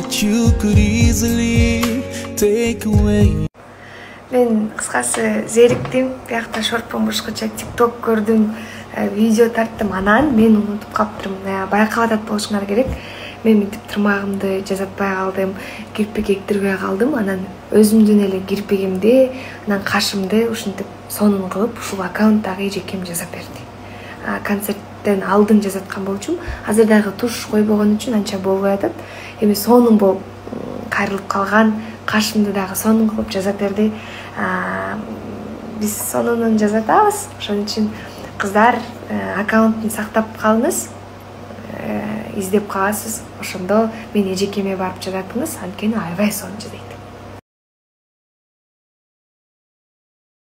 that you could easily take away. Мен кыскасы зериктим, биякта шорпон башкача TikTok көрдүм, видео тарттым, анан мен унутуп калыптырмын. Байкап атат болушуңар керек. Мен мынтип тырмагымды жазатпай калдым, кирпик эктирбей калдым. Анан өзүмдүн эле кирпигимди, анан кашымды ушинтип сонун кылып ушул аккаунттагы эжекем жазап берди. Концерттен алдын жазаткан болчумун. Азыр дагы туш койбогон үчүн анча болбой атат. Эми сонун болуп кайрылып калган, кашымды дагы сонун кылып жазап берди. Биз сонунун жазатабыз. Ошон үчүн кыздар аккаунттун сактап калыңыз. Издеп каласыз. Ошондо мен эжекеме барып жазатыңыз, анткени аябай сонун жазайт.